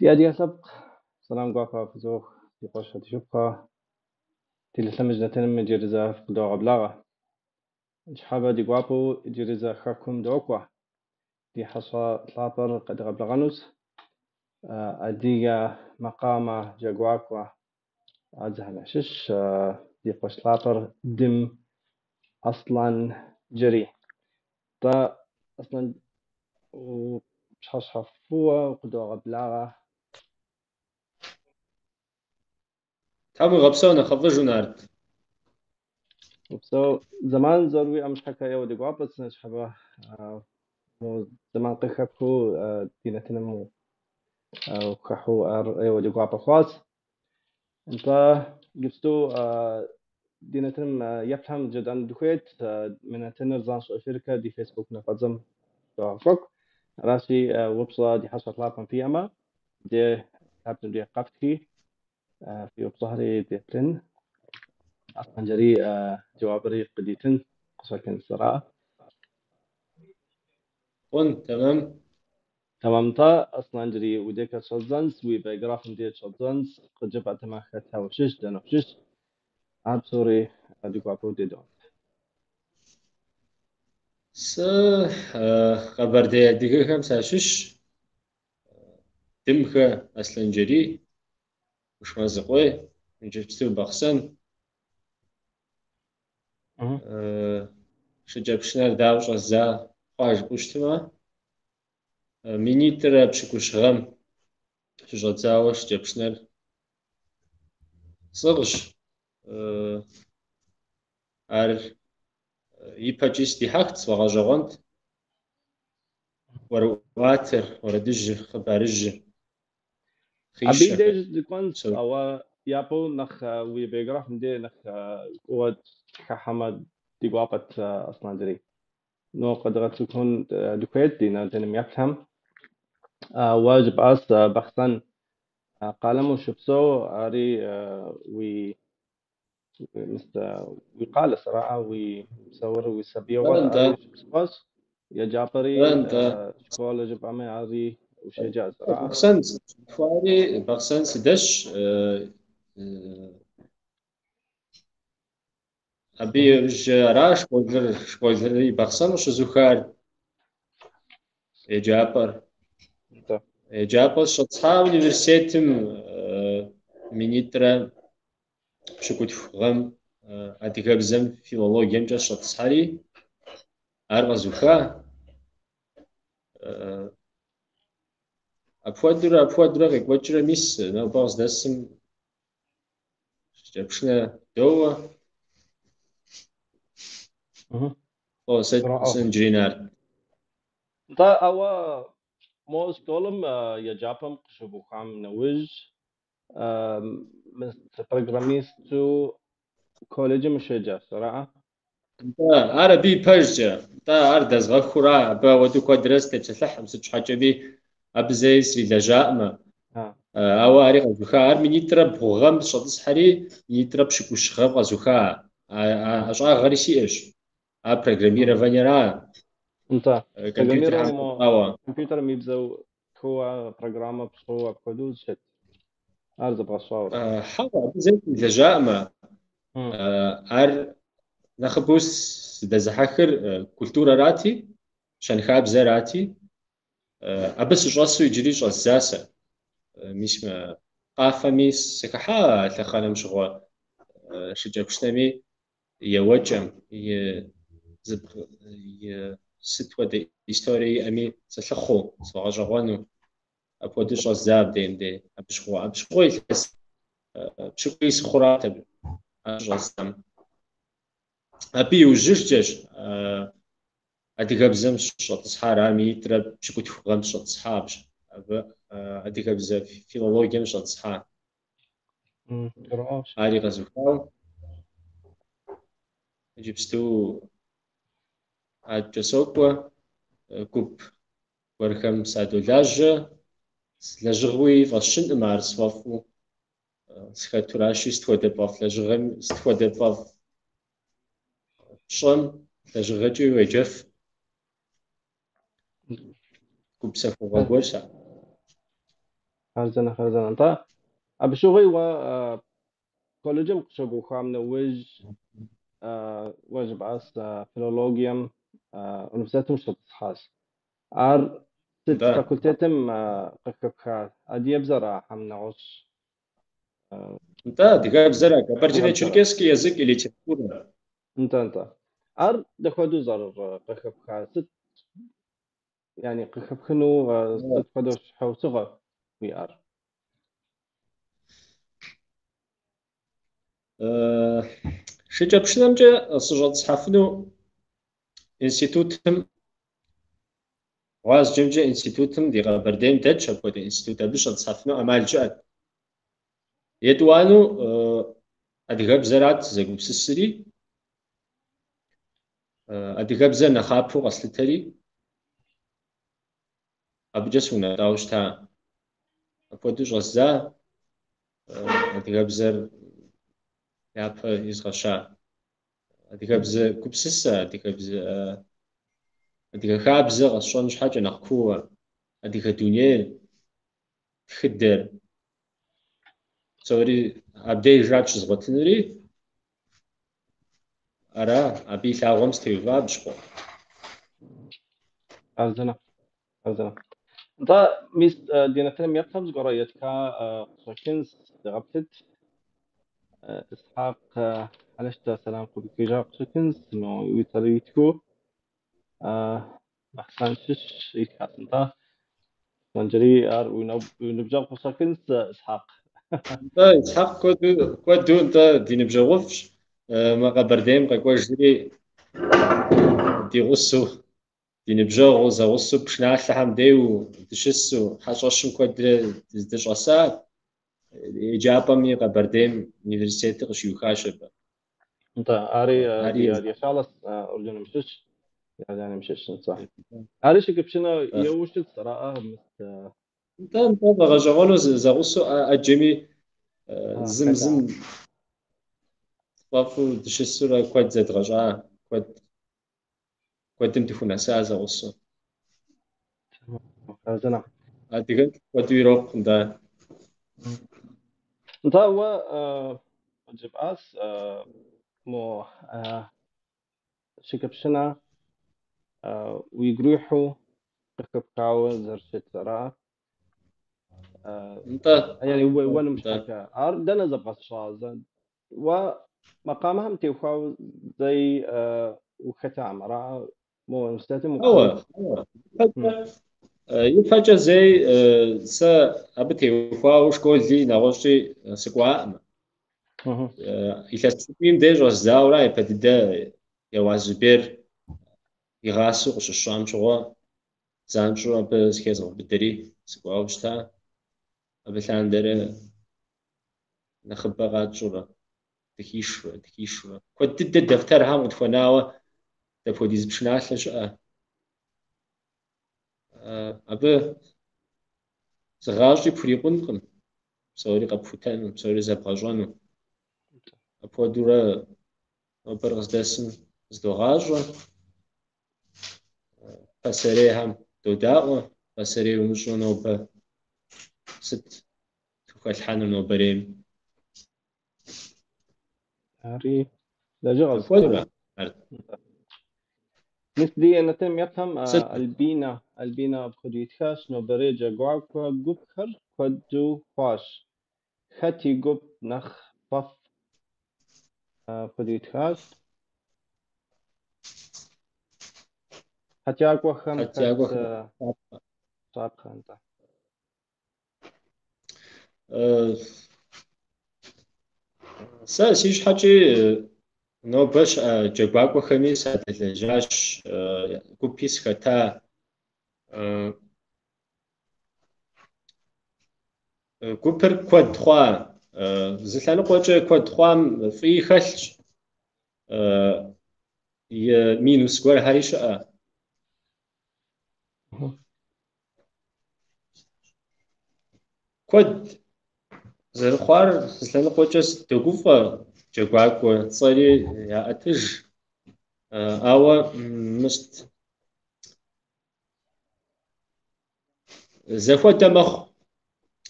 Ди адыгэ лъэпкъ, сэлам гуапэ фызох, ди къуэш, ди шыпхъухэ, Телелъэмыж нэтыным иджыри зэ фыкъыдогъэблагъэ. Ныщхьэбэ ди гуапэу иджыри зэ хэкум докӏуэ. Ди хьэщӏэ лъапӏэр къедгъэблэгъэнущ. Адыгэ макъамэ джэгуакӏуэ ӏэзэхэм ящыщ ди къуэш лъапӏэр Дым Аслъэнджэрий. Нтӏэ, Аслъэн, пщыхьэщхьэ фӏыуэ укъыдогъэблагъэ. Тхьэм уигъэпсэу нэхъыфӏыжу, Нарт. Упсэу. Зэман зэрыуиӏэм щхьэкӏэ ӏейуэ ди гуапэщ ныщхьэбэ зэман къыхэпхыу ди нэтыным ухыхьэу ар ӏейуэ ди гуапэ хъуащ. Нтӏэ, иджыпсту ди нэтыным еплъхэм жытӏэну дыхуейт, мы нэтыныр занщӏэу эфиркэ ди Фейсбук нафӏэдзэм догъэкӏуэкӏу. Аращи, упщӏэ ди хьэщӏэ лъапӏэм фиӏэмэ, де лъабжьэм де къэфтхи, фи упщӏэхэри деплъын. Аслъэнджэрий жэуапри къыдитын къыщӏэкӏын сэра. Хъун, тэмэм. Тэмэм, нтӏэ, Аслъэнджэрий, уи декӏэ щӏэддзэнщ, уи биографием деж щӏэддзэнщ, къыджепӏатэмэ хэта ущыщ, дэнэ ущыщ, ар псори ди гуапэу дедэӏуэнт. Сэ къэбэрдей адыгэхэм сащыщщ. Дымхэ Аслъэнджэрий, Кушмэзыкъуей, иджыпсту Бахъсэн. Шыкӏэпшынэр дауэ щӏэздза хъуа жыпӏэу щытмэ, минитӏрэ пщыкӏущ гъэм щыщӏэдзауэ шыкӏэпшынэр сӏыгъщ. Ар ипэкӏи сыдихьэхт, сфӏэгъэщӏэгъуэнт. Ӏуэрыӏуатэр, уэрэдыжьыр, хъыбарыжьыр, Абы и хъищэхэр. деж дыкӏуэнщ, ауэ япэу нэхъ уи биографием деж нэхъ куууэ дыхыхьэмэ ди гуапэт, Аслъэнджэрий. Но къэдгъэцӏыхун дыхуейт ди нэтыным еплъхэм. Уэ жыпӏащ Бахъсэн къалэм ущыпсэу, ари уи уи къалэ сэраӏэ, уи псэур, уи сабийгъуэр ари ущыпсэуащ, еджапӏэри, школэ жыпӏэмэ, ари ущеджа сэраӏэ. Бахъсэн сыщалъхуари, Бахъсэн сыдэсщ. Абы иужькӏэ ара школыр, школри Бахъсэн къыщызухар, еджапӏэр. Еджапӏэр сыщӏэтӏысхьа университетым минитӏрэ пщыкӏутху гъэм адыгэбзэм филологиемкӏэ сыщӏэтӏысхьэри, ар къэзуха. Апхуэдэурэ, апхуэдэурэ къекӏуэкӏрэ мис нобэ къыздэсым шыкӏэпшынэ доуэ. О, сэ Аслъэнджэрий Нарт. Нтӏэ, ауэ мо школым еджапӏэм къыщыбухам нэужь, программисту колледжым ущеджащ, араӏэ? Нтӏэ, ар абы и пэжкӏэ. Нтӏэ, ар дэзгъэхура, абы ауэдэу куэдрэ сытепсэлъыхькъым, сыт щхьэкӏэми абы зэи срилэжьаӏымэ. Ауэ ари къэзуха. Ар минитӏрэ бгъу гъэм сыщӏэтӏысхьэри, минитӏрэ пщыкӏущ гъэм къэзуха. А ӏэщӏагъэри сиӏэщ. Ар программированиера. Нтӏэ, Компьютерхэм программирование компьютерым и бзэу тхыуэ программэ пщӏыуэ апхуэдэу щыт. Ар зэбгъэщӏауэрэ? Хьэуэ, абы зэи срилэжьаӏымэ. Ар нэхъыбэу сыдэзыхьэхыр культурэрати, щэнхабзэрати, абы сыщӏэсу иджыри щӏэздза сэ. Мис мы къафэми сыхыхьа а лъэхъэнэм щыгъуэ, шыкӏэпшынэми еуэкӏэм, и сыт хуэдэ историе иӏэми сылъыхъуу, сфӏэгъэщӏэгъуэну. Апхуэдэу щӏэздза абдейм дей. Абы щыгъуэ, абы щыгъуэ илъэс пщыкӏуий сыхъурат абы щӏэздзам. Абы иужьыжкӏэщ адыгэбзэм сыщӏэтӏысхьар, ар минитӏрэ пщыкӏутху гъэм сыщӏэтӏысхьа абы адыгэбзэ филологием сыщӏэтӏысхьа. Ари къэзухауэ иджыпсту адэкӏэ сокӏуэ, гуп гуэрхэм садолажьэ. Лэжьыгъэуи фӏэсщынкъым ар сфӏэфӏу схэтуращи, сыт хуэдэ пфӏэфӏ лэжьыгъэм, сыт хуэдэ пфӏэфӏ пщӏэм лэжьыгъэкӏи уеджэф. Гупсэхугъуэ гуэр сэ. Хъарзынэ, хъарзынэ. Нтӏэ, абы щыгъуи уэ колледжым къыщыбухам нэужь, уэ жыпӏащ филологием университетым щӏэтӏысхьащ. Ар сыт Нтӏэ. факультетым къыхэпха? Адыгэбзэра хьэм нэгъуэщӏ? Нтӏэ, адыгэбзэра, Адыгэбзэра. кабардино-черкесский язык и литература. Нтӏэ, нтӏэ. Ар дапхуэдэу зэрыкъыхэпхар? Сыт, яни къыхэпхыну сыт хуэдэу щхьэусыгъуэ уиӏар? Шыкӏэпшынэмкӏэ сыщӏэтӏысхьэфыну институтым, гъуазджэмкӏэ институтым ди Къэбэрдейм дэтщ апхуэдэ институт, абы щӏэтӏысхьэфыну ӏэмал щыӏэт. Етӏуанэу адыгэбзэрат сызэгупсысри, адыгэбзэр нэхъапэу къэслъытэри, абыкӏэ сыунэтӏауэ щыта. Апхуэдэу щӏэздза адыгэбзэр япэ изгъэща. Адыгэбзэ гупсысэ, адыгэбзэ, адыгэ хабзэ къэсщӏэн щхьэкӏэ нэхъ кууэ, адыгэ дунейр, тхыдэр, псори абдежрат щызгъуэтынури, ара, абы и лъагъуэм сытеува абы щыгъуэ. Хъарзынэ, хъарзынэ. Нтӏэ, мис ди нэтыным еплъхэм зыгуэрэ ятха къыщӏэкӏынщ, дегъэплъыт. Исхьэкъ Хьэлэщтэ сэлам къыуихыжа къыщӏэкӏынщ, мо уи цӏэр итхыу. Бахъсэн щыщ итхащ. Нтӏэ, Аслъэнджэрий, ар уи ныбжьэгъу къыщӏэкӏынщ, Исхьэкъ. Нтӏэ, Исхьэкъ куэду нтӏэ ди ныбжьэгъуфӏщ. Мы Къэбэрдейм къэкӏуэжри ди гъусэу, ди ныбжьэгъуу, зэгъусэу пшыналъэхэм деу дыщысу, хьэщӏэщым куэдрэ дыздыщӏэса, еджапӏэми Къэбэрдейм университетыр къыщиухащ абы. Нтӏэ, ари ди Шалэс Урдыным щыщ, Иорданием щыщ, нтӏэ. Ари шыкӏэпшынэ еуэу щытщ, араӏэ, мис. Нтӏэ, нтӏэ, фӏэгъэщӏэгъуэну зэгъусэу ӏэджэми зым зым фӏэфӏу дыщысурэ куэд зэдгъэщӏа, куэдым дыхунэса зэгъусэу. Хъарзынэ. Адыгэм куэду ирокъу, нтӏэ. Нтӏэ, уэ жыпӏащ мо шыкӏэпшынэ уигу ирихьу къыхэпхауэ зэрыщытыр, ара? Нтӏэ. Яни уеуэным щхьэкӏэ. Ар дэнэ зэбгъэсщӏа? Уэ макъамэхэм теухуауэ зэи ухэтам, ара? Мо университетым Хьэуэ, хьэуэ. Ипэкӏэ зэи сэ абы теухуауэ школи нэгъуэщӏи сыкӏуаӏым. Илъэс пщыкӏуийм деж щӏэздзауэра япэ дыдэ Еуаз Зубер игъасэу къыщысщӏам щыгъуэ занщӏэу абы зыхезгъэубыдэри сыкӏуауэ щыта. Абы лъандэрэ нэхъыбэ къатщӏурэ, дыхишурэ, дыхишурэ. Куэд дыдэ дэфтэрхэм къытхуэнауэ дапхуэдиз пшыналъэ щыӏэ. Абы зы гъащӏи пхурикъункъым, псори къэпхутэну, псори зэбгъэщӏэну. Апхуэдэурэ нобэр къыздэсым зыдогъащӏэ. Пасэрейхэм додаӏуэ, пасэрей умыщӏэу нобэ сыт тхухэлъхьэнур нобэрейм? Ари лэжьыгъэ Апхуэдэурэ ар. Мис ди нэтыным еплъхэм Сыт? Альбинэ апхуэдэу итхащ, нобэрей джэгуакӏуэ гупхэр куэду хъуащ. Хэт и гуп нэхъ фӏэфӏ? Апхуэдэу итхащ. Хьэтиякӏуэхэм хэт Хьэтиякӏуэхэм щапхъэ, нтӏэ? Сэ си щхьэкӏи нобэ щыӏэ джэгуакӏуэхэми садэлэжьащ, гупи сыхэта. Гупыр куэд хъуа, зы лъэныкъуэкӏэ куэд хъуам фӏыи хэлъщ, и минус гуэрхэри щыӏэ. Куэд зэрыхъуар зы лъэныкъуэкӏэ догуфӏэ, джэгуакӏуэ цӏэри яӏэтыж, ауэ мыст зэхуэдэ мэхъу.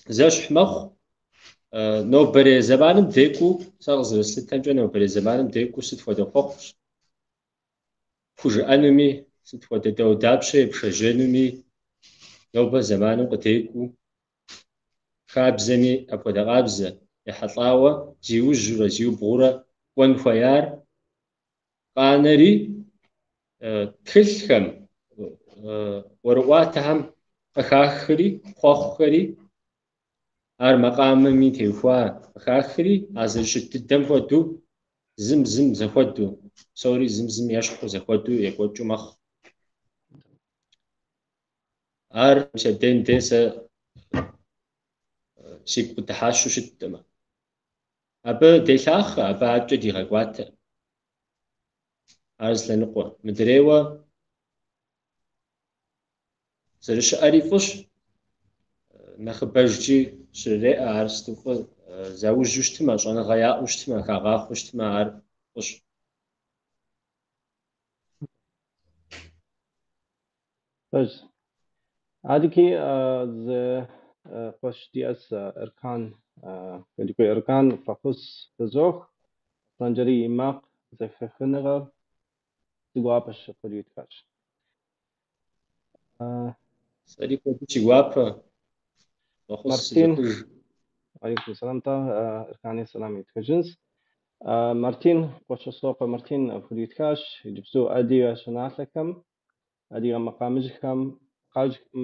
Зэщхь мэхъу. Нобэрей зэманым декӏуу, сэ къызэрыслъытэмкӏэ, нобэрей зэманым декӏуу сыт хуэдэ хъуэхъущ пхужыӏэнуми, сыт хуэдэ дауэдапщэ епшэжьэнуми, нобэ зэманым къыдекӏуу, хабзэми апхуэдэ къабзэ ехьэлӏауэ зиужьурэ, зиубгъурэ кӏуэн хуеяр къанэри, тхылъхэм, ӏуэрыӏуатэхэм къыхахри, хъуэхъухэри, ар макъамэми теухуа къыхахри, а зэрыщыт дыдэм хуэдэу, зым зым зэхуэдэу, псори зым зым ещхьу зэхуэдэу екӏуэкӏыу мэхъу. Ар мис абдейм де сэ сигу къыдыхьащэу щыткъымэ. Абы делъахъэ, абы адэкӏэ дигъэкӏуатэ. Ар зы лъэныкъуэ. Мыдрейуэ зэрыщыӏэри фӏыщ, нэхъыбэжкӏи щрыреӏэ, ар сыту фӏы, заужьу щытмэ, щӏэныгъэ яӏэу щытмэ, хагъахъуэу щытмэ, ар фӏыщ. Пэжщ. Адэкӏи зы къуэш диӏэщ Эркан, Кадыкъуей Эркан фӏэхъус фызох, Аслъэнджэрий и макъ зэхэхыныгъэр си гуапэщ, апхуэдэу итхащ. Сэри куэду си гуапэ. Фӏэхъус Мартин, сызохыж. Алейкум сэлам тӏэ, Эркани сэлам итхыжынщ. Мартин, Къуэщӏысокъуэ Мартин апхуэдэу итхащ, иджыпсту адыгэ щӏыналъэхэм, адыгэ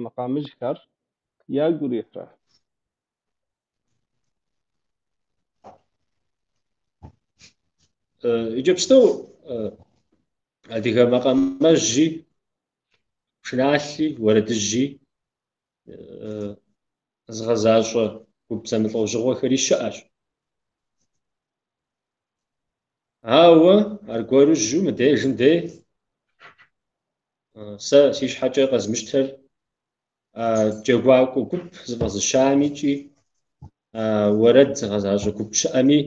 макъамэжьхэр ягу ирихьрэ? Иджыпсту адыгэ макъамэжьи, пшыналъи, уэрэдыжьи зыгъэзащӏэ гуп зэмылӏэужьыгъуэхэри щыӏэщ. Ауэ аргуэрыжьу мыдежым дей сэ си щхьэкӏэ къэзмыщтэр джэгуакӏуэ гуп зыфӏэзыщами икӏи уэрэд зыгъэзащӏэ гуп щыӏэми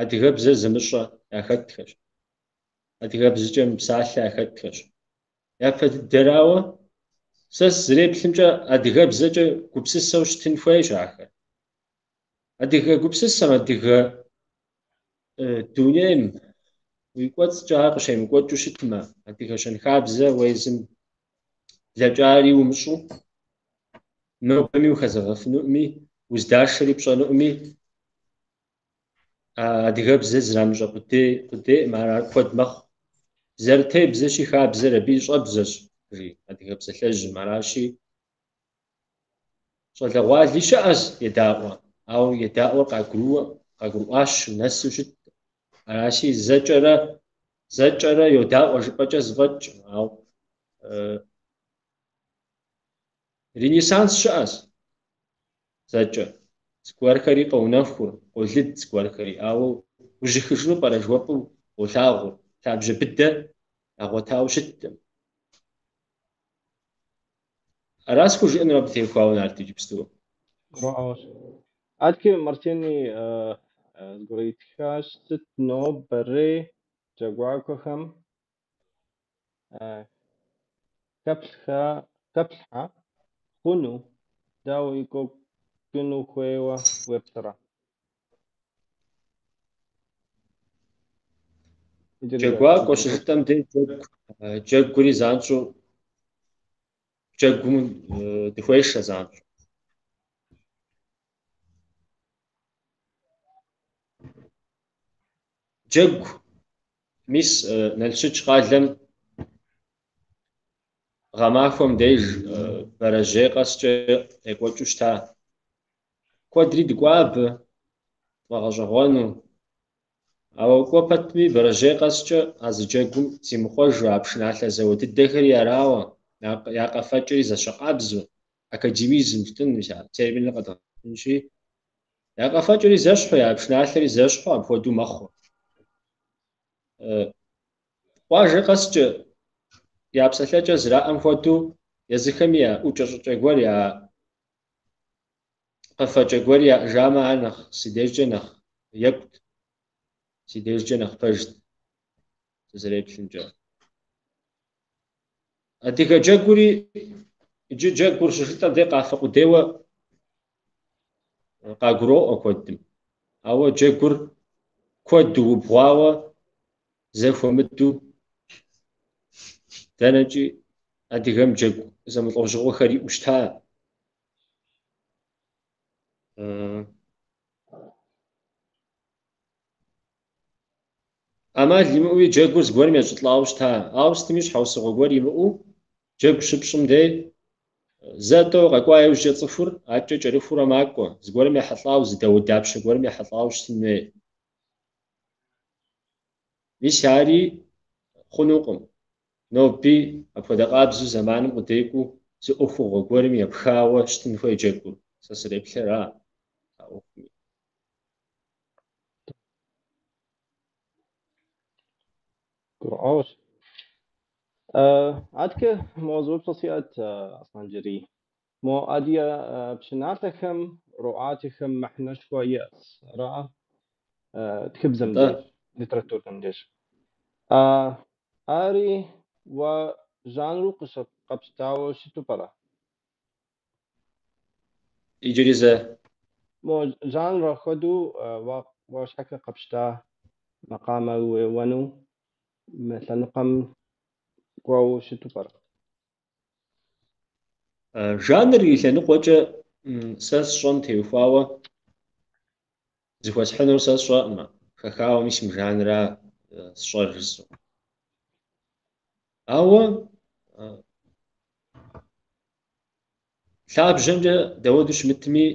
адыгэбзэ зымыщӏэ яхэтхэщ, адыгэбзэкӏэ мыпсалъэ яхэтхэщ. Япэ дыдэрауэ, сэ сызэреплъымкӏэ адыгэбзэкӏэ гупсысэу щытын хуейщ ахэр. Адыгэ гупсысэм, адыгэ дунейм уи кӏуэцӏкӏэ ар къыщемыкӏуэкӏыу щытмэ, адыгэ щэнхабзэ уэ езым блэкӏари умыщӏу, нобэми ухэзэгъэфынуӏыми, уздашэри пщӏэнуӏыми, адыгэбзэ зэрамыщӏэ къудейкъым, ар куэд мэхъу. Зэрытебзэщи хабзэр абы и щӏэбзэщ, жи адыгэ псалъэжьым, аращи, щӏалэгъуали щыӏэщ едаӏуэ, ауэ едаӏуэр къагурыӏуащу, нэсу щыт. Аращи, зэкӏэрэ йодаӏуэ жыпӏэкӏэ зэфӏэкӏкъым, ауэ ренессанс щыӏэщ зэкӏэ. Зыгуэрхэри къоунэхур, къолыд зыгуэрхэри, ауэ ужьыхыжыну пӏэрэ жыхуэпӏэу уолъагъур, лъабжьэ быдэ ягъуэтауэ щыткъым. Ара схужыӏэнур абы теухуауэ, Нарт, иджыпсту? Гурыӏуэгъуэщ. Адэкӏи Мартини зыгуэр итхащ, сыт нобэрей джэгуакӏуэхэм хэплъхьэ хъуну, дауэ екӏуэкӏыну хуейуэ уеплърэ? Джэгуакӏуэ щыжытӏэм дей джэгури занщӏэу, джэгум дыхуешэ занщӏэу. Джэгу, мис Налщыч къалэм гъэмахуэм деж бэрэжьей къэскӏэ екӏуэкӏыу щыта. Куэдри дыкӏуа абы, тфӏэгъэщӏэгъуэну. Ауэ кӏуэ пэтми бэрэжьей къэскӏэ а зы джэгум зимыхъуэжу, а пшыналъэ зэуэ дыдэхэри арауэ, я къэфэкӏэри зэщэкъабзэу, академизм жытӏэн, мис а терминыр къэдгъэнщи, я къэфэкӏэри зэщхьу, я пшыналъэри зэщхьу апхуэдэу мэхъу. Къуажэ къэскӏэ я псэлъэкӏэ зэраӏэм хуэдэу езыхэми я ӏукӏэ-щӏыкӏэ гуэр, я къэфэкӏэ гуэр яӏэжамэ, ар нэхъ си дежкӏэ нэхъ екӏут, си дежкӏэ нэхъ пэжт, сызэреплъымкӏэ. Адыгэ джэгури, иджы джэгур щыжытӏэм дей къафэ къудейуэ къагуроӏуэ куэдым. Ауэ джэгур куэду убгъуауэ, зэхуэмыдэу дэнэкӏи адыгэм джэгу зэмылӏэужьыгъуэхэр иӏэу щыта. ӏэмал имыӏэуи джэгур зыгуэрым ещӏылӏауэ щыта. Ауэ сытми щхьэусыгъуэ гуэр имыӏэу джэгу щыпщӏым дей зэ-тӏэу къэкӏуа иужькӏэ цӏыхур адэкӏэ кӏэрыхуурэ макӏуэ, зыгуэрым ехьэлӏауэ, зы дауэдапщэ гуэрым ехьэлӏауэ щытын хуей. Мис ари хъунукъым. Ноби апхуэдэ къабзэу зэманым къыдекӏуу зы ӏуэхугъуэ гуэрым епхауэ щытын хуей джэгур. Сэ среплъэра а ӏуэхуми. Гурыӏуэгъуэщ. Адэкӏэ мо зы упщӏэ сиӏэт, Аслъэнджэрий. Мо адыгэ пшыналъэхэм, ӏуэрыӏуатэхэм мыхьэнэшхуэ иӏэщ, ара? Тхыбзэм Нтӏэ. деж, литературэм деж. Ари уэ жанру къэпщтауэ щыту пӏэрэ? Иджыри зэ. Мо жанрэ хуэдэу уэ щхьэкӏэ къэпщта макъамэ уеуэну мы лъэныкъуэм кӏуэуэ щыту пӏэрэ? Жанр и лъэныкъуэкӏэ сэ сщӏэм теухуауэ зыхуэсхьынур сэ сщӏэкъымэ, хэхауэ мис мы жанра сщӏэр жысӏэу. Ауэ лъабжьэмкӏэ дауэду щымытми,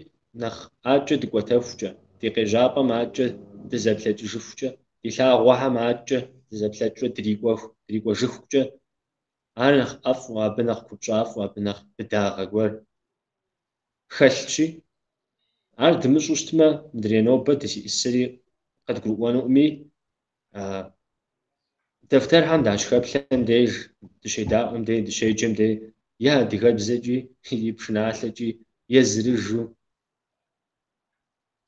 нэхъ адэкӏэ дыкӏуэтэхукӏэ, ди къежьапӏэм адэкӏэ дызэплъэкӏыжыхукӏэ, ди лъагъуэхэм адэкӏэ дызэплъэкӏыурэ дрикӏуэжыхукӏэ, ар нэхъ ӏэфӏу, абы нэхъ купщӏафӏэу, абы нэхъ быдагъэ гуэр хэлъщи, ар дымыщӏу щытмэ, мыдрей нобэ дызиӏысри къыдгурыӏуэнукъыми, дэфтэрхэм дащыхэплъэм деж, дыщедаӏуэм деж, дыщеджэм деж, е адыгэбзэкӏи, и пшыналъэкӏи, езырыжу,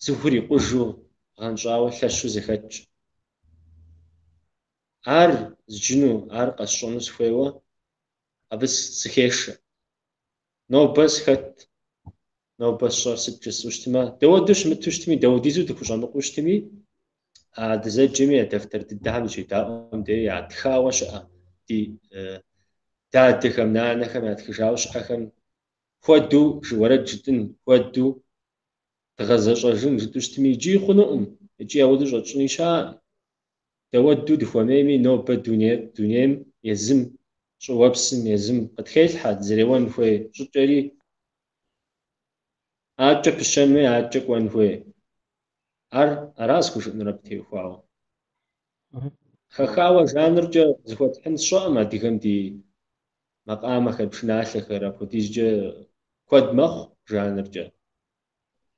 зыхурикъужу, гъэнщӏауэ лъэщу зэхэтщ. Ар зджыну, ар къэсщӏэну сыхуейуэ, абы сыхешэ. Нобэ сыхэт, нобэ сщӏэр сыт жысӏэу щытмэ, дауэду щымыту щытми, дауэдизу дыхущӏэмыкъуу щытми, а дызэджэми а дэфтэр дыдэхэм дыщедаӏуэм деж ятхауэ щыӏэ ди дадэхэм, нанэхэм ятхыжауэ щыӏэхэм хуэдэу уэрэд жытӏын, хуэдэу дгъэзэщӏэжын жытӏэу щытми, икӏи хъунукъым, икӏи ауэдэу щӏэтщӏыни щыӏэкъым. Дауэду дыхуэмейми, нобэ дунейм езым, щӏыуэпсым езым къытхелъхьэ, дызэреуэн хуей щӏыкӏэри, адэкӏэ пыщэн хуей, адэкӏэ кӏуэн хуей. Ар ара схужыӏэнур абы теухуауэ. Хэхауэ жанркӏэ зыхуэтхьын сщӏэкъым адыгэм ди макъамэхэр, пшыналъэхэр апхуэдизкӏэ куэд мэхъу жанркӏэ.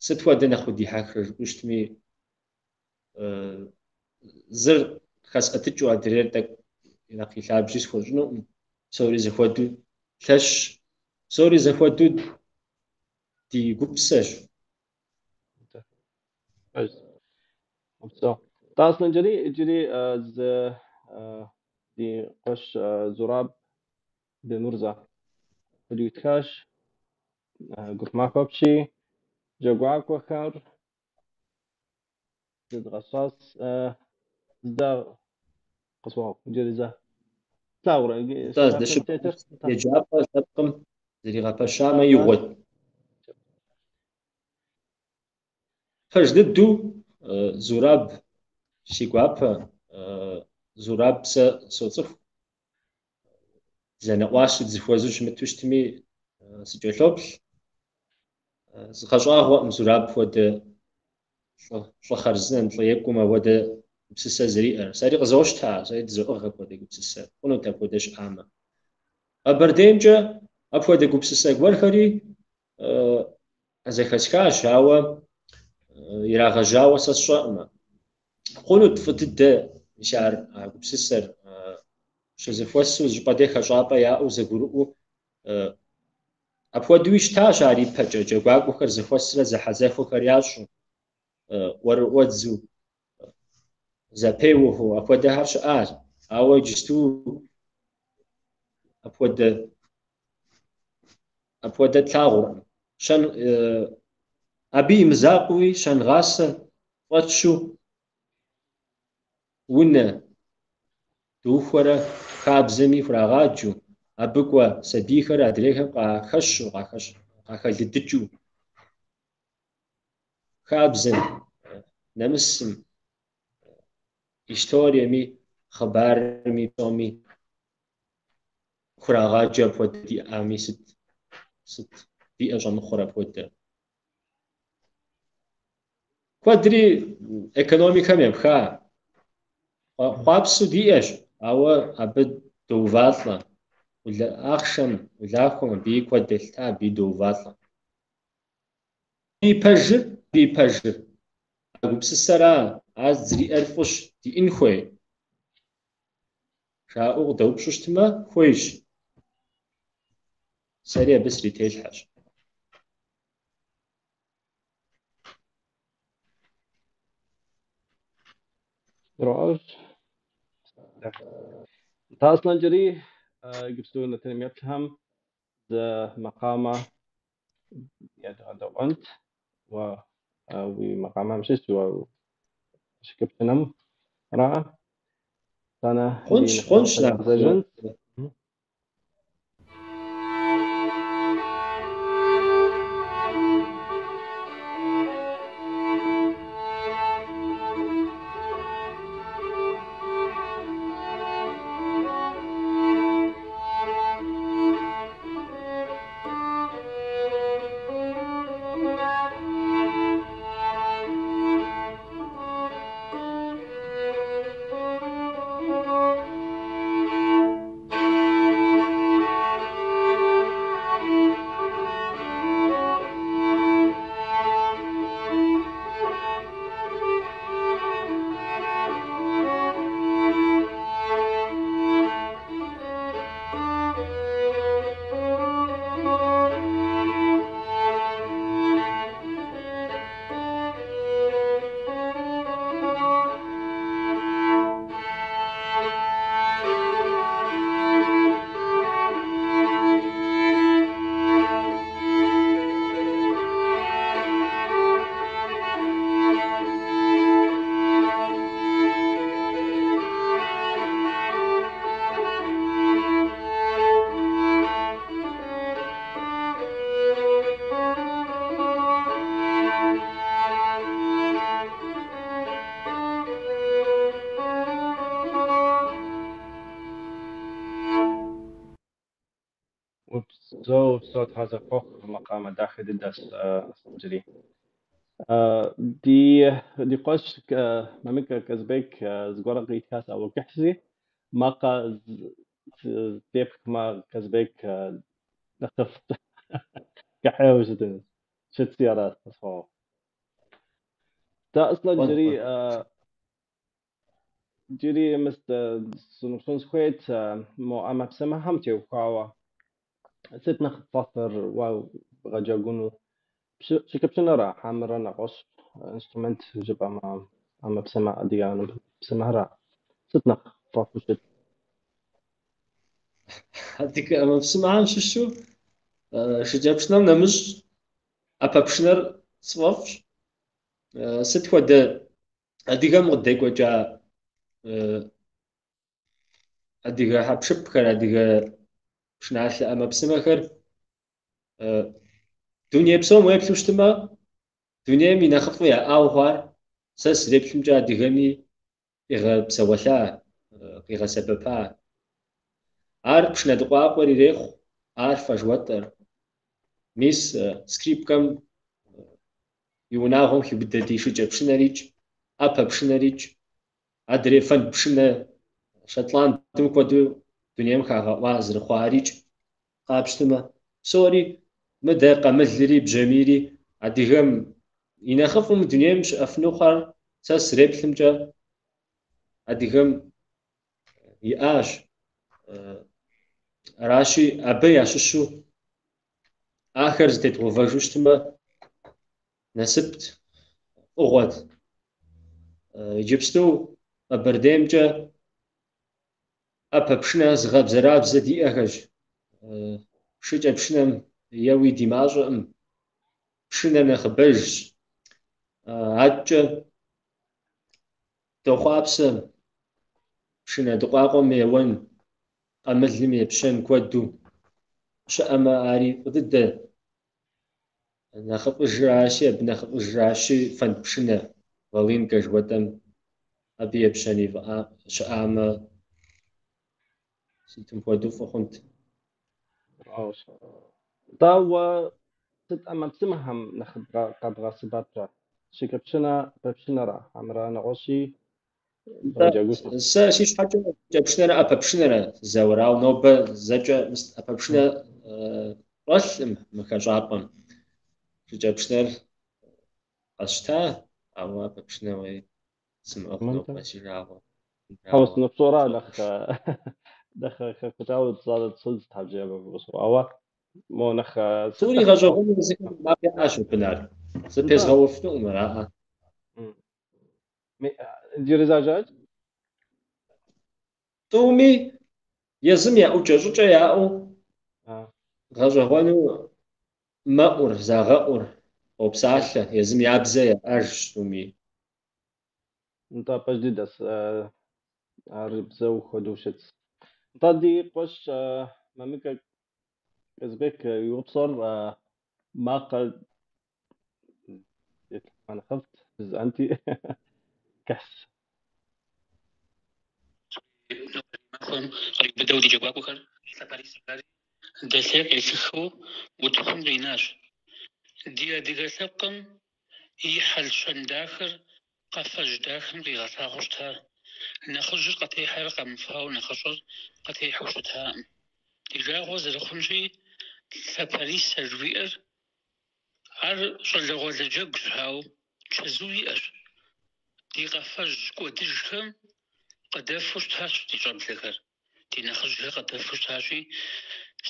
Сыт хуэдэ нэхъ удихьэхрэ жыпӏэу щытми, зыр хэсӏэтыкӏыу адрейр тӏэкӏу нэхъ и лъабжьи схуэщӏынукъым. Псори зэхуэдэу лъэщщ, псори зэхуэдэу ди гупсэщ. Упсэу. Нтӏэ, Аслъэнджэрий, иджыри зы ди къуэш Зураб Бемырзэ къыдитхащ гуп махуэ апщий, джэгуакӏуэхэр зыдгъэщӏас зда къысхуэгъэгъу иджыри зэ. Плъагъурэ, иджы Нтӏэ, си напэм здэщыпӏэ тетыр? Нтӏэ. еджапӏэ лъэпкъым зэригъэпэщамэ Аращ. игъуэт. Пэж дыдэу, Зураб си гуапэ, Зураб сэ соцӏыху. Зэнэӏуасэу дызэхуэзэу щымыту щытми, сыкӏэлъоплъ. Згъэщӏагъуэкъым Зураб хуэдэ лӏы хъарзынэм, лӏы екӏум апхуэдэ гупсысэ зэриӏэр. Сэри къызощтэ ар, сэри дызоӏыгъ апхуэдэ гупсысэ. Хъунут апхуэдэ щыӏамэ. Къэбэрдеймкӏэ апхуэдэ гупсысэ гуэрхэри зэхэсхащ, ауэ ирагъэжьауэ сэ сщӏэкъымэ. Хъунут фӏы дыдэ мис ар а гупсысэр щызэхуэсу зыщӏыпӏэ дей хэщӏапӏэ яӏэу зэгурыӏуэу апхуэдэуи щытащ ар ипэкӏэ джэгуакӏуэхэр зэхуэсрэ зэхьэзэхуэхэр ящӏу, ӏуэрыӏуэдзу, зэпеуэхэу апхуэдэхэр щыӏащ. Ауэ иджысту апхуэдэ тлъагъуркъым. Щэн Абы и мызакъуэуи щэнгъасэ фӏэтщу унэ духуэрэ хабзэми хурагъаджэу, абы кӏуэ сабийхэр адрейхэм къахэщу, къахэлыдыкӏыу, хабзэм, нэмысым, историеми, хъыбарми, псоми хурагъаджэ апхуэдэ диӏами, сыт диӏэ щӏэмыхъур апхуэдэ? Куэдри экономикэм епха. Хъуапсэу диӏэщ, ауэ абы доувалӏэ. Ахъшэм, улахуэм абыи куэд елъыта, абыи доувалӏэ. И пэжыр, и пэжыр. А гупсысэра, ар зриӏэр фӏыщ, диӏэн хуей. Жаӏэу къыдэупщӏу щытмэ, хуейщ. Сэри абы срителъхьэщ. Нтӏэ, Аслъэнджэрий, иджыпсту нэтыным еплъхэм зы макъамэ едгъэдэӏуэнт. Уэ уи макъамэм щыщ, уэ шыкӏэпшынэм ара? Итӏанэ ди Хъунщ, нэтыным хъунщ, къэдгъэзэжынт. Упсэу, упсэу, Тхьэ зэхуэхъу, макъамэ дахэ дыдэщ, Аслъэнджэрий. Ди къуэш Мамыкэ Казбек зыгуэрэ къитхащ, ауэ кӏыхьщи, макъэ зэтепхмэ, Казбек нэхъыфӏ кӏыхьейуэ щытынущ. Щытси аращ, къысхуэгъэгъу. Тэ Аслъэнджэрий, иджыри мыс сыноупщӏын сыхуейт мо ӏэмэпсымэхэм теухуауэ. Сыт нэхъ пфӏэфӏыр уэ бгъэджэгуну? Шыкӏэпшынэра, хьэмэрэ нэгъуэщӏ инструмент жыпӏэмэ, ӏэмэпсымэ, адыгэ ӏэмэпсымэхра? Сыт нэхъ пфӏэфӏу щыт? Адыгэ ӏэмэпсымэхэм щыщу шыкӏэпшынэм нэмыщӏ ӏэпэпшынэр сфӏэфӏщ. Сыт хуэдэ адыгэм къыдекӏуэкӏа адыгэ хьэпшыпхэр, адыгэ пшыналъэ ӏэмэпсымэхэр дуней псом уеплъу щытмэ, дунейм и нэхъыфӏу яӏауэ хъуар, сэ сызэреплъымкӏэ адыгэми къигъэпсэуэлъа, къигъэсэбэпа. Ар пшынэ дыкъуакъуэр ирехъу, арфэ жыхуэтӏэр. Мис скрипкэм и унагъуэм хиубыдэ ди шыкӏэпшынэрикӏ, ӏэпэпшынэрикӏ, адрей фэнд пшынэ Шотландым хуэдэу дунейм хагъэӏуа зэрыхъуарикӏ къапщтэмэ, псори мыдэ къамылри бжьамийри адыгэм и нэхъыфӏым дунейм щыӏэфыну хъуар сэ сызэреплъымкӏэ адыгэм иӏащ. Аращи, абы ящыщу ахэр зэтедгъэувэжу щытмэ, насыпт, фӏыгъуэт. Иджыпсту Къэбэрдеймкӏэ ӏэпэпшынэ зыгъэбзэрабзэ диӏэхэщ. Шыкӏэпшынэм еуи ди мащӏэкъым. Пшынэр нэхъыбэжщ. Адэкӏэ дохъуапсэ пшынэ дыкъуакъуэм еуэн, къамылым епщэн куэду щыӏэмэ, ари фӏы дыдэ. Нэхъыфӏыжращи, абы нэхъыфӏыжращи, фэнд пшынэ, волынкэ жыхуэтӏэм абы епщэни щыӏамэ, сытым хуэдэу фӏы хъунт. Нтӏэ, уэ сыт ӏэмэпсымэхэм нэхъ къэбгъэсэбэпрэ? Шыкӏэпшынэ, ӏэпэпшынэрэ, хьэмэрэ нэгъуэщӏи бгъэджэгуфу? Сэ си щхьэкӏэ шыкӏэпшынэрэ ӏэпэпшынэрэ сызэуэр, ауэ нобэ зэкӏэ ӏэпэпшынэ щӏэлъым мы хэщӏапӏэм. Шыкӏэпшынэр къэсщта, ауэ ӏэпэпшынэ уей сымыӏыгъ нобэ си жагъуэ. Хьэуэ, сыныпщӏэра нэхъ нэхъ хэхутауэ щӏэдз, ауэ мо нэхъ сыт Тӏури нэхъ гъэщӏэгъуэну езыхэм я макъ яӏэщ абы, Нарт. Зэпезгъэуэфынукъым, араӏэ. Иджыри зэ жыӏэт? Тӏуми езым я ӏукӏэ щӏыкӏэ яӏэу гъэщӏэгъуэну мэӏур, загъэӏур, къопсалъэ, езым я бзэ яӏэжщ тӏуми. Нтӏэ, пэж дыдэщ, ар бзэу хуэдэу щытщ. Нтӏэ, ди къуэш Мамыкэ Казбек и упщӏэр макъэ нэхъыфӏт жысӏэнти, кӏыхьщ. Махуэм къриубыдэу ди джэгуакӏуэхэр лъапэрисэ дэлъей къелъыхыу утыкум къинащ. Ди адыгэ лъэпкъым и хьэл-щэн дахэр къафэжь дахэм къигъэлъагъуэу щыта. Нэхъыжьыр къытехьэрэ къэмыфауэ нэхъыщӏэр къытехьэу щытакъым. Ди жагъуэ зэрыхъунщи, лъапэрисэ жыхуиӏэр ар щӏалэгъуалэ джэгущ, ауэ чэзу иӏэщ. Ди къафэжь кӏуэдыжхэм къыдэфу щытащ ди щӏэблэхэр, ди нэхъыжьхэр къыдэфу щытащи,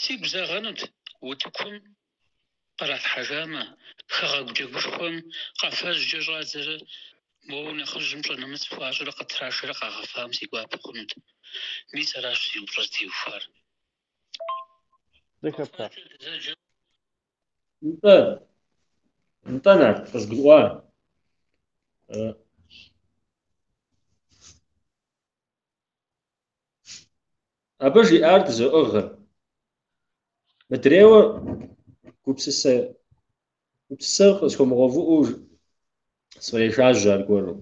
сигу зэгъэнут утыкум къралъхьэжамэ, хэгъэгу джэгушхуэм къафэжькӏэ щӏадзэрэ моуэ нэхъыжьым пщӏэ нэмыс хуащӏрэ къытрашэрэ къагъэфам си гуапэ хъунут. Мис аращ си упщӏэр зытеухуар. Зэхэпха? Нтӏэ, нтӏэ, Нарт, къызгурыӏуа. Абы жиӏар дызоӏыгъыр. Мыдрейуэ гупсысэ, гупсысэр къысхуэмыгъэувыӏэу сфӏрешажьэ аргуэру.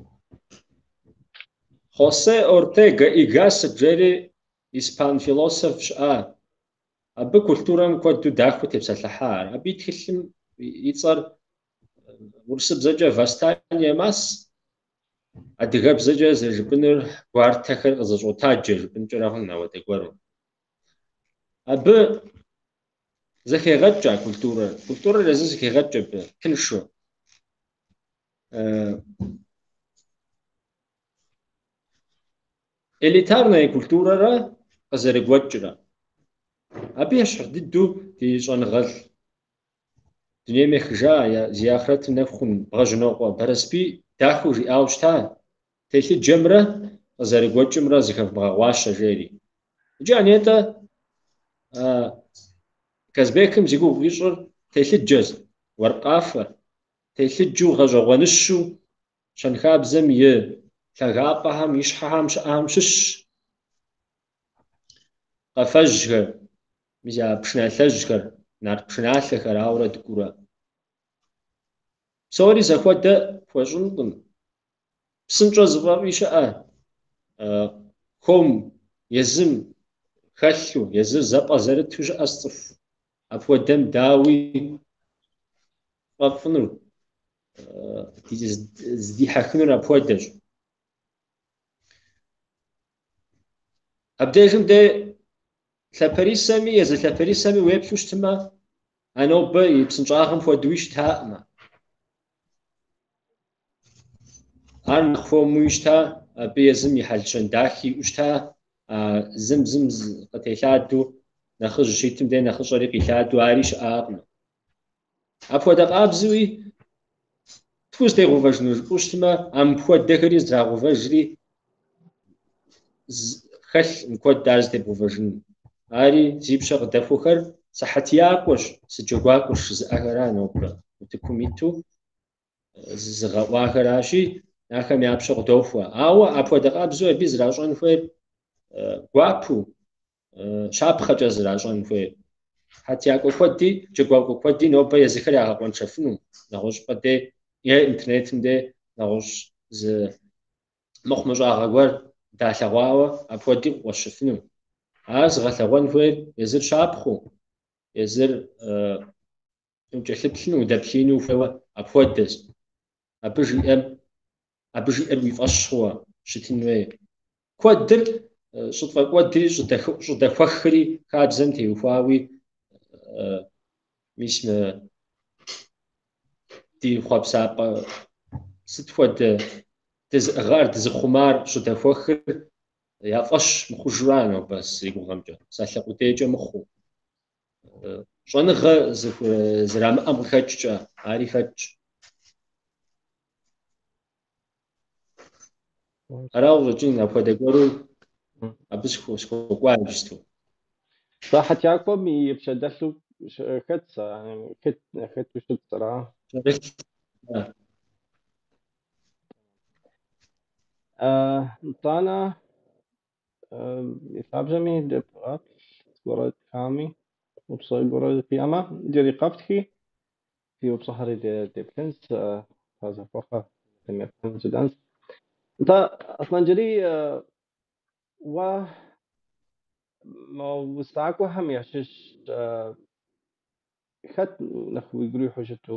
Хосе Ортегэ и Гассет жери испан философ щыӏа. Абы культурэм куэду дахэу тепсэлъыхьа ар. Абы и тхылъым и цӏэр урысыбзэкӏэ Восстание масс, адыгэбзэкӏэ зэрыжыпӏынур гуартэхэр къызэщӏотаджэ жыпӏынкӏэрэ хъун ауэдэ гуэру. Абы зэхегъэкӏ а культурэр. Культурэр езыр зэхегъэкӏ абы, тыншу. Элитарная культурэрэ къызэрыгуэкӏрэ. Абы ещхь дыдэу ди щӏэныгъэлӏ дунейм ехыжа, зи ахърэтыр нэху хъун Бгъэжьнокъуэ Барэсбий дахэу жиӏауэ щыта, телъыджэмрэ къызэрыгуэкӏымрэ зыхэвмыгъэгъуащэ, жери. Иджы а нетӏэ Казбекым зи гугъу ищӏыр телъыджэщ, уэркъ къафэр, телъыджэу гъэщӏэгъуэныщу щэнхабзэм и лъагапӏэхэм, и щхьэхэм щыӏэхэм щыщщ. Къафэжьхэр, мис а пшыналъэжьхэр, нарт пшыналъэхэр, ауэрэ дыкӏуурэ. Псори зэхуэдэ пхуэщӏынкъым. Псынщӏэ зыфӏэфӏи щыӏэ, хуэм езым хэлъу, езыр зэпӏэзэрыту щыӏэщ цӏыху. Апхуэдэм дауи фӏэфӏынур, зыдихьэхынур апхуэдэщ. Абдежым де лъапэрисэми, езы лъапэрисэми уеплъу щытмэ, а нобэ и псынщӏагъэм хуэдэуи щытаӏымэ. Ар нэхъ хуэмуи щыта, абы езым и хьэл-щэн дахи иӏэу щыта, а зым зым къытелъадэу, нэхъыжь щитым де нэхъыщӏэри къилъадэу ари щыӏакъым. Апхуэдэ къабзэуи тхузэтегъэувэжыну жыпӏэу щытмэ, а мыпхуэдэхэри зэтрагъэувэжри хэлъкъым куэд ар зэтебгъэувэжын. Ари зи пщэ къыдэхуэхэр сыхьэтиякӏуэщ, сыджэгуакӏуэщ жызыӏэхэра нобэ. утыкум иту зызыгъэӏуахэращи, ахэм я пщэ къыдохуэ. Ауэ апхуэдэ къабзэу абы зращӏэн хуейр гуапу, щапхъэкӏэ зращӏэн хуейр. Хьэтиякӏуэ куэди, джэгуакӏуэ куэди нобэ езыхэр ягъэкъуэншэфыну, нэгъуэщӏыпӏэ дей е интернетым дей нэгъуэщӏ зы мыхъумыщӏагъэ гуэр далъэгъуауэ апхуэди къыкъуэщыфыну. Ар зыгъэлъэгъуэн хуейр езыр щапхъэу, езыр укӏэлъыплъыну, удэплъеину ухуейуэ апхуэдэщ. Абы жиӏэм, абы жиӏэр уи фӏэщ хъууэ щытын хуей. Куэдыр щӏытфӏэкӏуэдри, щӏыдэхуэхри хабзэм теухуауи, мис мы ди хъуэпсапӏэ сыт хуэдэ дызыӏыгъар, дызыхъумар щӏыдэхуэхыр я фӏэщ мыхъужура нобэ си гугъэмкӏэ, псалъэ къудейкӏэ мыхъуу. Щӏэныгъэ зэрамыӏэм къыхэкӏкӏэ, ари хэтщ. Арауэ къыщӏэкӏын апхуэдэ гуэру абы схуэкӏуа иджысту. Сэ хьэтиякӏуэм и пщэ дэлъу хэт сэ, хэту щытщ, ара? Нтӏанэ и лъабжьэми девгъэплъ, зыгуэрэ тхами, упщӏэ гуэрэ фиӏэмэ, иджыри къэфтхи, фи упщӏэхэри деплъынщ, фазэхуэхъэ жыдӏэнщ. Нтӏэ, Аслъэнджэрий, уэ мы усакӏуэхэм ящыщ хэт нэхъ уигу ирихьу щыту?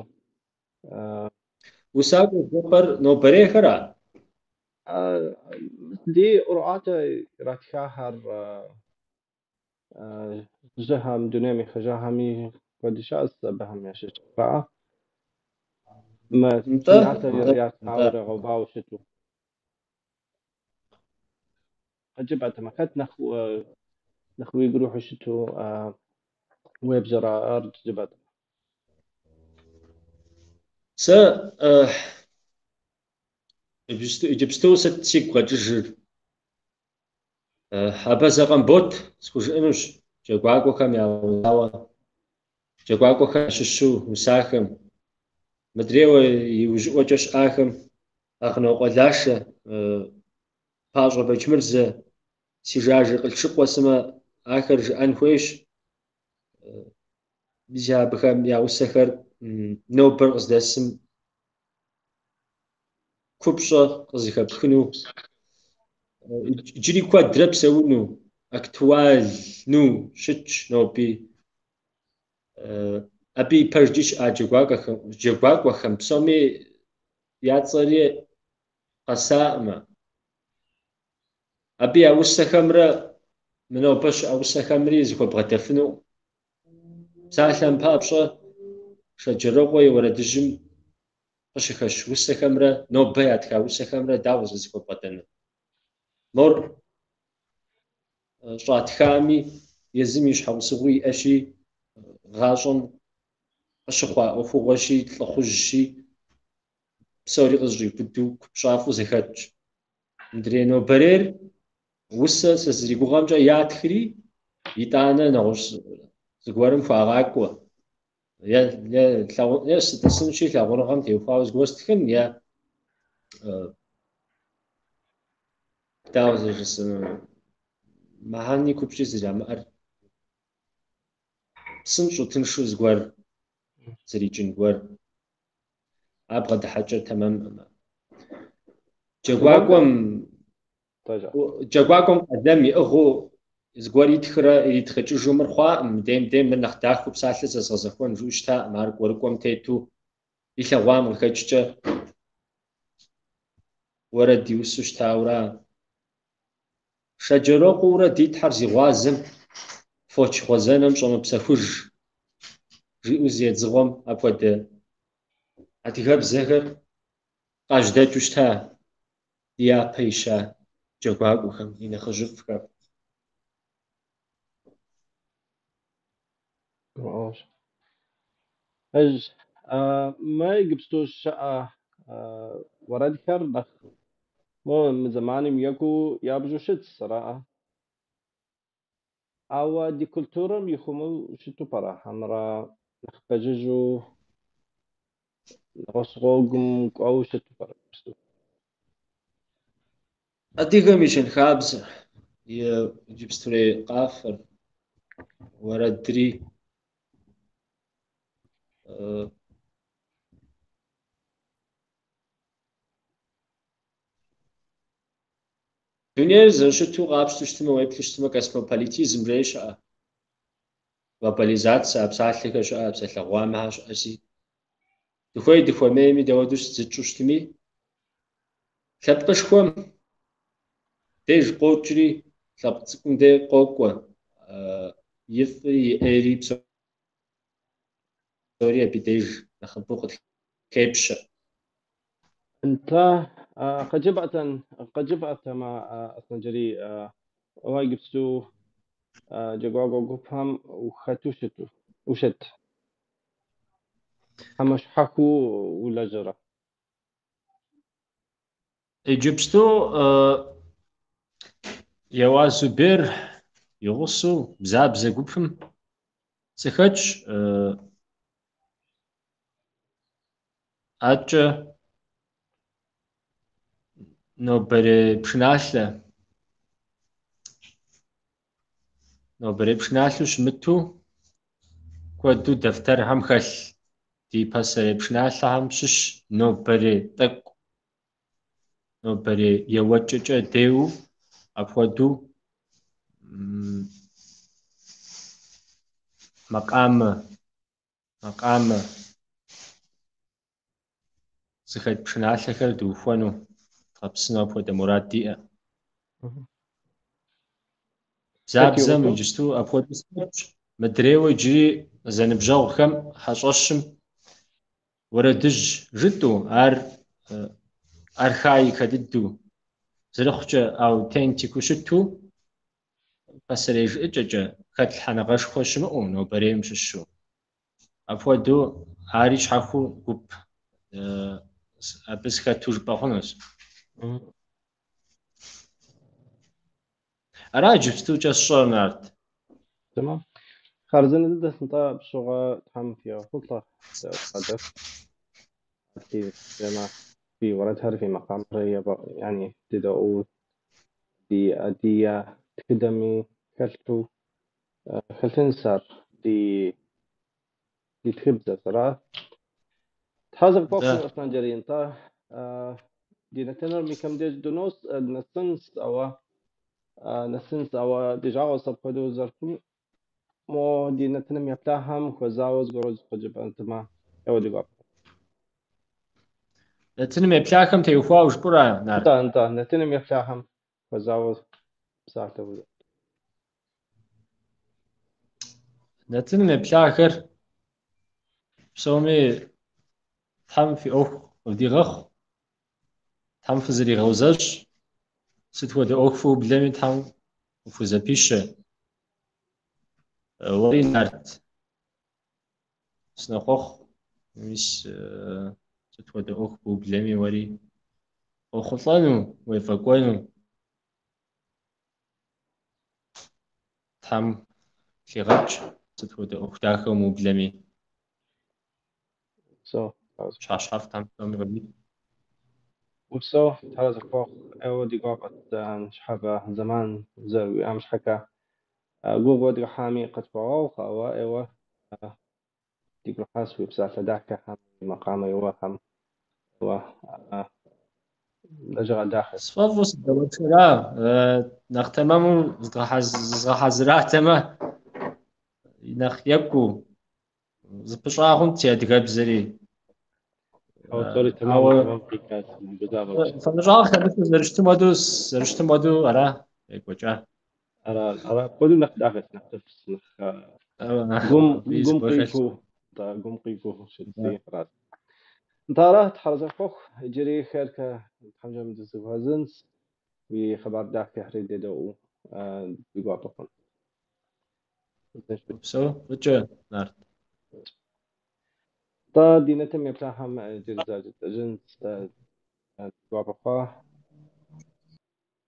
Усакӏуэ жыпӏэр нобэрейхэра? Ди ӏуэрыӏуатэ иратхахэр жьыхэм, дунейм ехыжахэми куэд щыӏэщ абыхэм ящыщ. Мы Нтӏэ, пшыналъэ нтӏэ, ятхауэ нтӏэ. ирагъэувауэ щыту. Къыджепӏэтэмэ, хэт нэхъ уигу ирихьу щыту уебжэрэ ар жыпӏэтэмэ? Сэ иджыпсту сыт сигу къэкӏыжыр? Абазэ Къамбот схужыӏэнущ джэгуакӏуэхэм я унауэ, джэгуакӏуэхэм ящыщу усахэм, мыдрейуэ иужьыӏуэкӏэ щыӏахэм, Агънокъуэ Лашэ, Пащӏэ Бэчмырзэ, Сижажэ Къылъшыкъуэ сымэ ахэр жыӏэн хуейщ. Мис абыхэм я усэхэр нобэр къыздэсым купщӏэ къызыхэпхыну, иджыри куэдрэ псэуну, актуальну щытщ ноби. Абы и пэжкӏи щыӏа джэгуакӏуэхэм псоми я цӏэри къэсаӏымэ. Абы я усэхэмрэ мы нобэ щыӏэ усэхэмри зыхуэбгъэдэфыну. Псалъэм папщӏэ, Шэджэрокъуэ и уэрэдыжьым къыщыхэщ усэхэмрэ нобэ ятха усэхэмрэ дауэ зыхуэбгъэдэнур? Мор щӏатхами, езым и щхьэусыгъуи иӏэщи, гъащӏэм къыщыхъуа ӏуэхугъуэщи, лӏыхъужьщи, псори къызэщӏиубыдэу купщӏафӏэу зэхэтщ. Мыдрей нобэрейр усэ сэ сызэригугъэмкӏэ ятхри, итӏанэ нэгъуэщӏ зыгуэрым хуагъакӏуэ. Е сытӏысынщи лъагъуныгъэм теухуауэ зыгуэр стхын, е дауэ зэрыжысӏэнур, мыхьэни купщӏи зэрамыӏэр псынщӏэу тыншу зыгуэр зэрикӏын гуэр. А бгъэдыхьэкӏэр тэмэмкъым. Джэгуакӏуэм къалэм иӏыгъыу зыгуэр итхрэ иритхъыкӏыжу мыр хъуакъым, мыдейм мыдейм мыр нэхъ дахэу псалъэ зэзгъэзэхуэн жиӏэу щытакъым, ар кӏуэрыкӏуэм тету илъэгъуам къыхэкӏкӏэ уэрэд иусу щытаура. Шэджэрокъуэурэ ди Тхьэр зи гъуазэм фоч гъуэзэнэм щӏэмыпсэхуж, жиӏэу зы едзыгъуэм апхуэдэ адыгэбзэхэр къажьэдэкӏыу щыта ди япэ ища джэгуакӏуэхэм, ди нэхъыжьыфӏхэм. Пэжщ. Мы иджыпсту щыӏэ уэрэдхэр нэхъ мо мы зэманым екӏуу ябжу щытщ, араӏэ? Ауэ ди культурэм ихъумэу щыту пӏэрэ, хьэмэрэ нэхъ пэжыжьэу? Нэгъуэщӏ гъуэгум кӏуэуэ щыту пӏэрэ иджыпсту? Адыгэм и щэнхабзэр, и иджыпстурей къафэр, уэрэдри, дунейр зэрыщыту къапщтэу щытмэ, уеплъу щытмэ, космополитизм жей щыӏэ, глобализацэ, а псалъэхэр щыӏэ, а псалъэ гъуамэхэр щыӏэси, дыхуей дыхуэмейми, дауэдэу зытщӏу щытми, лъэпкъышхуэм деж къокӏри, лъэпкъ цӏыкӏум деж къокӏуэ, и фӏи и ӏейри псори абы деж нэхъыбэу къытхепщэ. Нтӏэ, къыджепӏатэмэ, Аслъэнджэрий, уэ иджыпсту джэгуакӏуэ гупхэм ухэту ущыт? Хьэмэ щхьэхуэу улэжьэрэ? Иджыпсту Еуаз Зубер и гъусэу Бзабзэ гупым сыхэтщ. Адэкӏэ нобэрей пшыналъэу щымыту куэду дэфтэрхэм хэлъ ди пасэрей пшыналъэхэм щыщ нобэрей тӏэкӏу, нобэрей еуэкӏэкӏэ деу апхуэдэу макъамэ зыхэт пшыналъэхэр дыухуэну, дгъэпсыну апхуэдэ мурад диӏэ. Бзабзэм иджыпсту апхуэдэу сыхэтщ. Мыдрейуэ иджыри зэныбжьэгъухэм хьэщӏэщым уэрэдыжь жытӏэу, ар архаикэ дыдэу, зэрыхъукӏэ аутентику щыту, пасэрей жыӏэкӏэкӏэ хэтлъхьэныгъэшхуэ щымыӏэу нобэрейм щыщу. Апхуэдэу ари щхьэхуэу гуп абы сыхэту жыпӏэ хъунущ. Ара иджыпстукӏэ сщӏэр, Нарт? Тэмэм. Хъарзынэ дыдэ нтӏэ пщыгъуэ Тхьэм фигъэхъулӏэ, фи уэрэдхэр, фи макъамэхэр yani дедэӏуэу ди адыгэ тхыдэми хэлъу хэлъынс ар ди тхыбзэс, ара? Тхьэ зэхуэхъу, Аслъэнджэрий, нтӏэ ди нэтыныр микэм деж дынос, нэсынс, ауэ ди жагъуэщ апхуэдэу зэрыхъум. Мо ди нэтыным еплъахэм хуэзауэ зыгуэру къыджепӏатэмэ, еуэ ди гуапэ. Нэтыным еплъахэм теухуауэ жыпӏэра, Нарт? Нтӏэ, нтӏэ, нэтыным еплъахэм хуэзауэ псалъэ узэт. Нэтыным еплъахэр псоми Тхьэм фи ӏуэху къывдигъэхъу, Тхьэм фызэригъэузэщӏ, сыт хуэдэ ӏуэху фыублэми Тхьэм къыфхузэпищэ. Уэри, Нарт, сынохъуэхъу, мис сыт хуэдэ ӏуэху быублэми уэри къохъулӏэну, уефӏэкӏуэну. Тхьэм лъигъэкӏ, сыт хуэдэ ӏуэху дахэ умыублэми. Щхьэщхьэфӏ Тхьэм псоми къывит. Упсэу, Тхьэр зэхуэхъу, ӏейуэ ди гуапэт ныщхьэбэ зэман зэрыуиӏам щхьэкӏэ. Гугъу уэдгъэхьами къытхуэгъэгъу, ауэ ӏейуэ дигу ирихьащ уи псалъэ дахэхэм, уи макъамэ еуэхэм, ӏейуэ лэжьыгъэ дахэ. Сфӏэфӏу сыдэуэршэра, нэхъ тэмэму зызгъэхьэзыратэмэ, нэхъ екӏуу зыпыщӏа хъунт си адыгэбзэри. Ауэ псори тэмэм, тэмэм къикӏат, гузавэу. Фэмыщӏагъ хэмылъу зэрыщытым хуэдэу ара екӏуэкӏа. Ара, ара, апхуэдэу нэхъ дахэт, нэхъ тыфс, нэхъ гум къикӏыу, гум къикӏыу щытти, арат. Нтӏэ ара, Тхьэр зэхуэхъу, иджыри херкэ тхьэмжэм дызэхуэзынс, уи хъыбар дахэхэри дедэӏуэу ди гуапэ хъун. Упсэу, фӏыкӏэ, Нарт. Нтӏэ, ди нэтым еплъахэм иджыри зэ жытӏэжынс, ди гуапэ хъуа.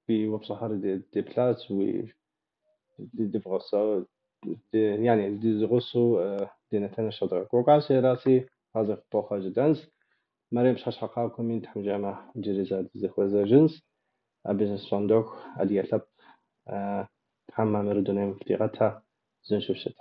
Фи упщӏэхэр деплъащ, уи дивгъэсэу, yani дизэгъусэу ди нэтыныр щедгъэкӏуэкӏащ, аращи, Тхьэр зэхуэхъу жытӏэнс. Мэрем пщыхьэщхьэ къакӏуэми, Тхьэм жиӏэмэ, иджыри зэ дызэхуэзэжынщ. Абы апщӏондэху адыгэ лъэпкъ Тхьэм мамыру дунейм фытригъэтэ, узыншэу фыщыт.